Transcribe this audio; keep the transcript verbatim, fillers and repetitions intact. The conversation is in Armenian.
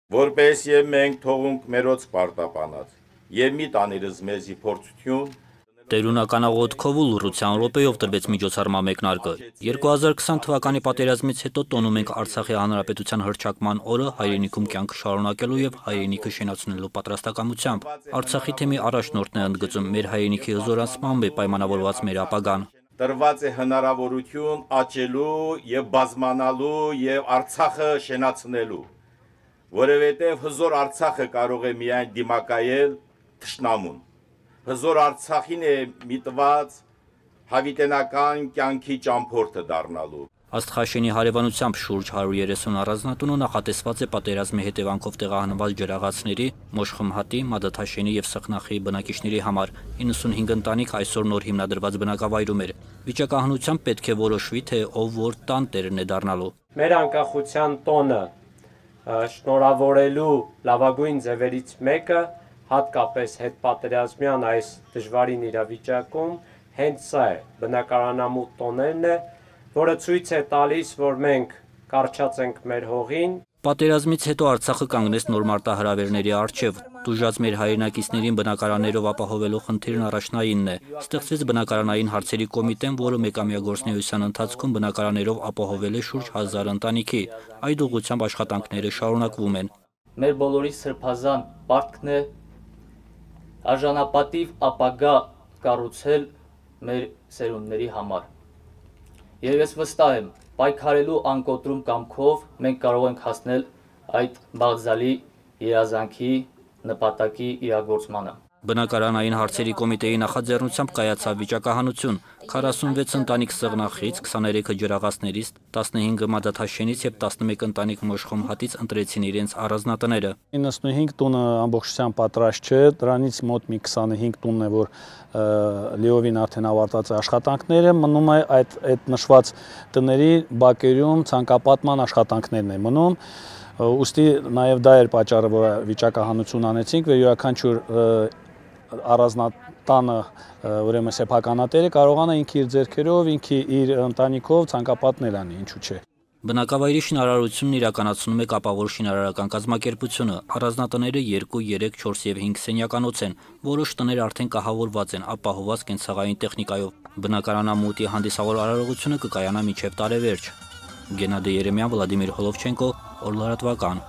Որպես եւ մենք թողունք մերոց պարտապանած եւ մի տանիրս մեզի փորձություն Տերունականաղոթքով ու լռության րոպեով տրվեց միջոցառման մեկնարկը։ երկու հազար քսան թվականի պատերազմից հետո տոնում ենք Արցախի հանրապետության հռչակման օրը հայրենիքում կյանքը շարունակելու եւ հայրենիքը շենացնելու պատրաստակամությամբ։ Արցախի թեմի առաջնորդն է ընդգծում, մեր հայրենիքի հզորացմամբ է պայմանավորված մեր ապագան։ Տրված է հնարավորություն աճելու եւ բազմանալու եւ Արցախը շենացնելու, որովհետեւ հզոր Արցախը կարող է միայն դիմակայել թշնամուն։ Հզոր Արցախին է միտված հավիտենական կյանքի ճամփորդը դառնալու։ Աստղաշենի հարևանությամբ շուրջ հարյուր երեսուն առանձնատունը նախատեսված է պատերազմի հետևանքով տեղահանված ջրաղացների, Մոշխմհատի, Մադաթաշենի եւ Սխնախի բնակիչների համար։ իննսունհինգ ընտանիք այսօր նոր հիմնադրված բնակավայրում էր։ Վիճակահանությամբ պետք է որոշվի, թե ով որ տան տերն է դառնալու։ Մեր անկախության տոնը շնորհավորելու լավագույն ձևերից մեկը հատկապես հետպատերազմյան այս դժվարին իրավիճակում հենց սա է, բնակարանամուտ տոներն է, որը ցույց է տալիս, որ մենք կարճած ենք մեր հողին։ Պատերազմից հետո Արցախը կանգնեց նոր մարտահրավերների առջև։ Տուժած մեր հայրենակիցներին բնակարաններով ապահովելու խնդիրն առաջնայինն է։ Ստեղծվեց բնակարանային հարցերի կոմիտեն, որը մեկամյա գործունեության ընթացքում բնակարաններով ապահովել է շուրջ հազար ընտանիքի։ Այդ ուղղությամբ աշխատանքները շարունակվում են։ Մեր բոլորի սրբազան պարտքն է արժանապատիվ ապագա կառուցել մեր սերունդների համար։ Եվ ես վստահ եմ, պայքարելու անկոտրում կամքով մենք կարող ենք հասնել այդ բաղձալի երազանքի նպատակի իրագործմանը։ Բնակարանային հարցերի կոմիտեի նախաձեռնությամբ կայացավ վիճակահանություն։ քառասունվեց ընտանիք Սղնախից, քսաներեքը ջրաղացներից, տասնհինգը Մադաթաշենից եւ տասնմեկ ընտանիք Մոշխմհատից ընտրեցին իրենց առանձնատները։ իննսունհինգ տունը ամբողջությամբ պատրաստ չէ, դրանից մոտ մի քսանհինգ տունն է, որ լիովին արդեն ավարտած է աշխատանքները, մնում է այդ այդ նշված տների բակերում ցանկապատման աշխատանքներն է մնում։ Ուստի նաև դա էր պատճառը, որ վիճակահանություն անեցինք, որ յուրաքանչյուր առանձնատանը, ուրեմն սեփականատերը կարողանա ինքը իր ձեռքերով, ինքը իր ընտանիքով ցանկապատներ անի, ինչու՞ չէ։ Բնակավայրի շինարարությունն իրականացնում է կապավոր շինարարական կազմակերպությունը։ Առանձնատները երկու, երեք, չորս եւ հինգ սենյականոց են։ Որոշ տներ արդեն կահավորված են, ապահովված կենցաղային տեխնիկայով։ Բնակարանամուտի հանդիսավոր արարողությունը կկայանա մինչև տարեվերջ։ Գենադի Երեմյան, Վլադիմիր Հոլովչենկո, Օրլարատվական։